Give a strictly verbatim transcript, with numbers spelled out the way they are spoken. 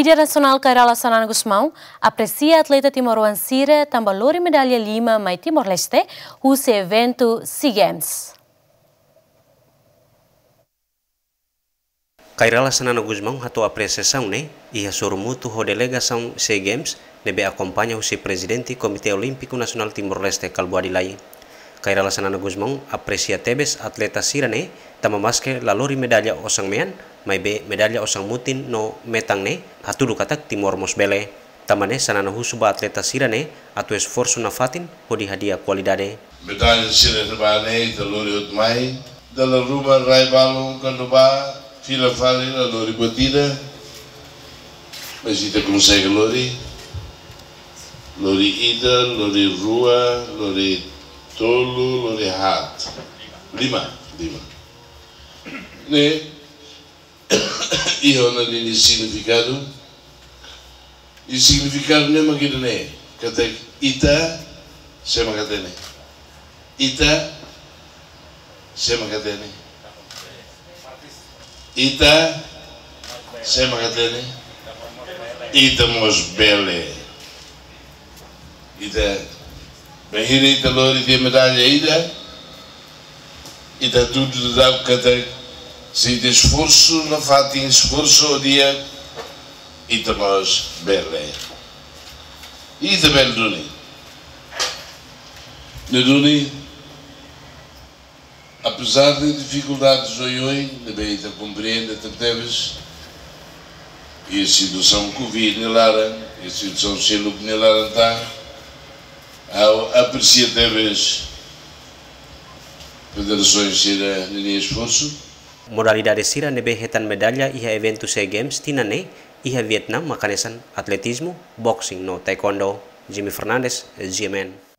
Líder nasionál Kay Rala Xanana Gusmão apresia atleta timoroan sira tanba lori medalla lima mai Timor-Leste husi eventu SEA Games. Kay Rala Xanana Gusmão hato'o apresiasaun ne'e iha sorumutu ho delegasaun SEA Games ne'ebé akompaña husi Prezidente Komité Olímpiku Nasionál Timor-Leste Kalbuadi Lay. Kay Rala Xanana Gusmão apresia tebes atleta sira-ne'e tanba maske la lori medalla osan-mean, maibé medalla osan-mutin no metan ne'e hatudu katak Timor mós bele. Tanba ne'e Xanana husu ba atleta sira-ne'e atu esforsu nafatin hodi hadi'a kualidade. Medalla sira ne'ebá ne'e ita lori hotu mai, dala ruma rai balun kuandu bá fila fali la lori buat ida, mas ita konsege lori. Lori ida, lori rua, lori tolu, lori haat. Lima, lima. Ne'e iha ona ninia signifikadu. I signifikadu ne'e mak ida-ne'e, katak ita sé mak hatene. Ita sé mak hatene. Ita sé mak hatene. Ita mós bele. Ita bainhira ita lori tiha medalla ida, ita hatudu daudaun katak se ita esforsu nafatin, esforsu ho di'ak, ita mós bele. Ita bele duni. Ne'e duni, apezar de difikuldades oioin, ne'ebé ita komprende tebetebes, iha situasaun Covid nia laran, iha situasaun seluk nia laran tan, ha'u apresia tebes federasaun sira ninia esforsu. Modalidade sira ne'ebé hetan medalla iha eventu SEA Games tinan ne'e iha Vietnam mak hanesan atletizmu, boxing no taekwondo. Jimmy Fernandes, G M N.